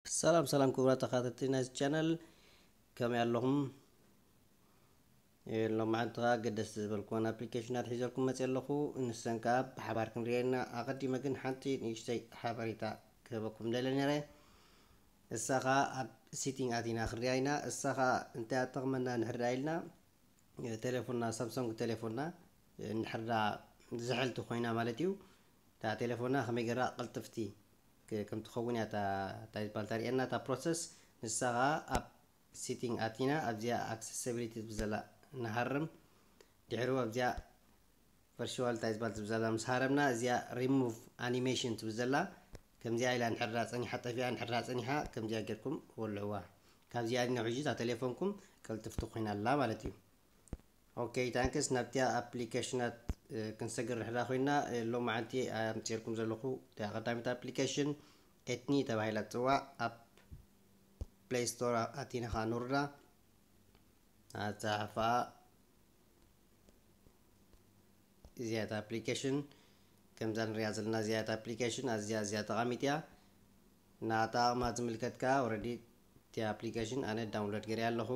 ሰላም ሰላም ክቡራት ተኸታተልቲ ናይዚ ቻነል፣ ከመይ ኣለኹም? ሎማዓንቲ ከዓ ገደስ ዝበልኩወን ኣፕሊኬሽናት ሒዘልኩም መፅእ ኣለኹ። ንሰን ከዓ ብሓባር ክንሪኤና። ኣቐዲመ ግን ሓንቲ ንእሽተይ ሓበሬታ ክህበኩም ደለ ነረ። እሳ ከዓ ኣብ ሲቲንግ ኣቲና ክንሪኣ ኢና። እሳ ከዓ እንታይ ኣጠቕመና ንሕዳ ኢልና፣ ቴሌፎንና፣ ሳምሶንግ ቴሌፎንና እንድሕርዳ ዝሕልቲ ኮይና ማለት እዩ። እታ ቴሌፎንና ከመይ ገራ ቅልጥፍቲ ከም ትኸውን እያ እንታይ ዝበሃል ተርእየና እታ ፕሮሰስ። ንሳ ከዓ ኣብ ሲቲንግ ኣቲና ኣብዚኣ ኣክሰሲቢሊቲ ትብል ዘላ ንሃርም። ድሕሩ ኣብዚኣ ቨርቹዋል እንታይ ዝበሃል ትብል ዘላ ምስ ሃረምና እዚኣ ሪሙቭ ኣኒሜሽን ትብል ዘላ ከምዚኣ ኢላ ንሕራ ፀኒሓ ጠፊኣ ንሕራ ፀኒሓ ከምዚኣ ጌርኩም ወልዕዋ። ካብዚኣ ዲና ሕጂ እታ ቴሌፎንኩም ቅልጥፍቲ ኮይና ኣላ ማለት እዩ። ኦኬ ታንክስ። ናብቲያ ኣፕሊኬሽናት ክንሰግር ድሕራ ኮይና ሎማዓንቲ ኣምፅርኩም ዘለኹ እቲያ ቀዳሚት ኣፕሊኬሽን ኤትኒ ተባሂላ ትፅዋዕ። ኣብ ፕሌይ ስቶር ኣቲና ከዓ ንርዳ ኣፃሓፋ እዚያት ኣፕሊኬሽን ከምዛ ንሪያ ዘለና እዚያት ኣፕሊኬሽን ኣዝያ ኣዝያ ጠቓሚት እያ። ናታ ኣቕማ ዝምልከት ከዓ ኦረዲ እቲ ኣፕሊኬሽን ኣነ ዳውንሎድ ገይረ ኣለኹ።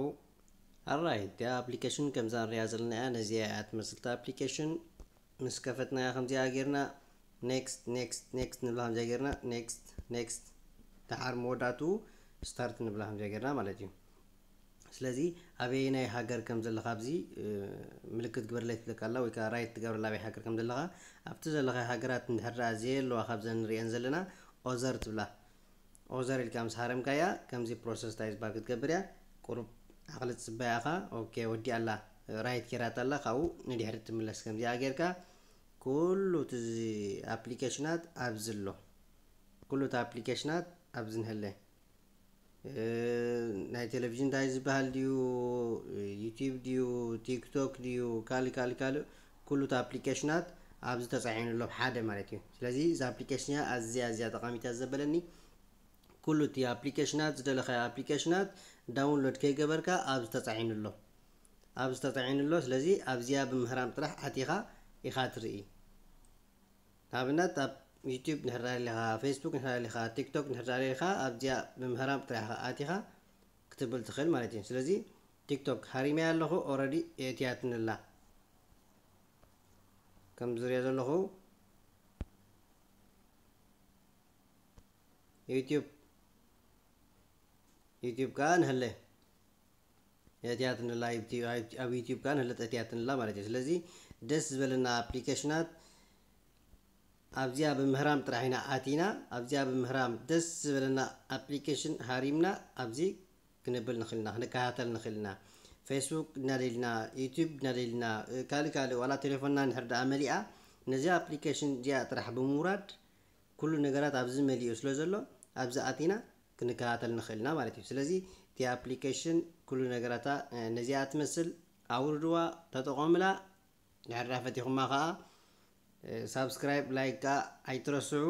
ኣራይ እቲ ኣፕሊኬሽን ከምዛ ንሪያ ዘለና እያ። ነዚያ እያ ትመስልቲ ኣፕሊኬሽን ምስ ከፈትናያ ከምዚኣ ጌርና ኔክስት ኔክስት ኔክስት ንብላ ከምዚኣ ጌርና ኔክስት ኔክስት ደሓር መወዳእትኡ ስታርት ንብላ ከምዚኣ ጌርና ማለት እዩ። ስለዚ ኣበየናይ ሃገር ከም ዘለኻ ኣብዚ ምልክት ግበርለይ ትብለካ ኣላ ወይ ከዓ ራይት ትገብረላ ኣበይ ሃገር ከም ዘለኻ። ኣብቲ ዘለኻ ሃገራት እንድሕር ደኣ ዘየለዋ ካብዘን ንሪአን ዘለና ኦዘር ትብላ። ኦዘር ኢልካ ምስ ሃረምካያ ከምዚ ፕሮሰስ እንታይ ዝበሃል ክትገብር እያ። ቁሩብ ዓቕሊ ትፅበያ ኢኻ። ኦኬ ወዲኣ ኣላ፣ ራይት ጌራታ ኣላ። ካብኡ ንድሕሪ ትምለስ ከምዚኣ ጌርካ ኩሉ እቲ ኣፕሊኬሽናት ኣብዚ ኣሎ። ኩሉ እቲ ኣፕሊኬሽናት ኣብዚ ንህለ። ናይ ቴሌቪዥን እንታይ ዝበሃል ድዩ፣ ዩቲብ ድዩ፣ ቲክቶክ ድዩ፣ ካልእ ካልእ ካልእ ኩሉ እቲ ኣፕሊኬሽናት ኣብዚ ተፃዒኑ ኣሎ ሓደ ማለት እዩ። ስለዚ እዚ ኣፕሊኬሽን እያ ኣዝያ ኣዝያ ጠቃሚት እያ ዘበለኒ። ኩሉ እቲ ኣፕሊኬሽናት ዝደለካዮ ኣፕሊኬሽናት ዳውንሎድ ከይገበርካ ኣብዚ ተፃዒኑ ኣሎ። ኣብዚ ተፃዒኑ ኣሎ። ስለዚ ኣብዚያ ብምህራም ጥራሕ ኣቲኻ ኢኻ ትርኢ። ንኣብነት ኣብ ዩቲብ ንሕዳር ኢኻ፣ ፌስቡክ ንሕዳር ኢኻ፣ ቲክቶክ ንሕዳር ኢኻ፣ ኣብዚኣ ብምህራም ጥራሕ ኢኻ ኣቲኻ ክትብል ትኽእል ማለት እዩ። ስለዚ ቲክቶክ ሃሪመያ ኣለኹ፣ ኦረዲ የእትያትንላ ከም ዝሪኦ ዘለኹ ዩቲብ ዩቲብ ከዓ ንህለ እትያትንላ ኣብ ዩቲብ ከዓ ንህለ እትያትንላ ማለት እዩ። ስለዚ ደስ ዝበለና ኣፕሊኬሽናት ኣብዚኣ ብምህራም ጥራሕ ኢና ኣቲና። ኣብዚኣ ብምህራም ደስ ዝበለና ኣፕሊኬሽን ሃሪምና ኣብዚ ክንብል ንኽእልና ክንከታተል ንኽእልና ፌስቡክ እናደልና ዩቲብ እናደልና ካልእ ካልእ ዋላ ቴሌፎንና ንሕር ደኣ መሊኣ ነዚ ኣፕሊኬሽን እዚኣ ጥራሕ ብምውራድ ኩሉ ነገራት ኣብዚ መሊኡ ስለ ዘሎ ኣብዚ ኣቲና ክንከታተል ንኽእልና ማለት እዩ። ስለዚ እቲ ኣፕሊኬሽን ኩሉ ነገራታ ነዚኣ ትመስል ኣውርድዋ ተጠቐምላ። ድሕር ዳፈቲኹማ ከዓ ሳብስክራይብ ላይክ ከዓ ኣይትረስዑ።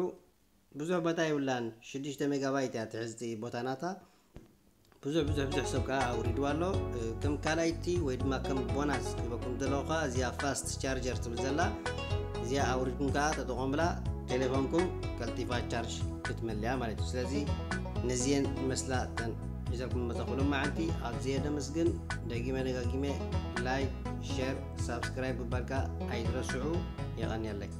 ብዙሕ ቦታ ይብላን ሽዱሽተ ሜጋባይት እያ ትሕዝቲ ቦታ ናታ። ብዙሕ ብዙሕ ብዙሕ ሰብ ከዓ ኣውሪድዋ ኣሎ። ከም ካልኣይቲ ወይ ድማ ከም ቦናስ ክበኩም ዘለኹ ከዓ እዚኣ ፋስት ቻርጀር ትብል ዘላ እዚኣ ኣውሪድኩም ከዓ ተጠቐምላ። ቴሌፎንኩም ቀልጢፋ ቻርጅ ክትመልያ ማለት እዩ። ስለዚ ነዚየን መስላ ተን ሒዘልኩም መፀኹ ሎማዓንቲ። ኣዝየ ደመስግን። ደጊመ ደጋጊመ ላይክ ሸር ሳብስክራይብ ምባልካ ኣይትረስዑ። የቐንየለይ።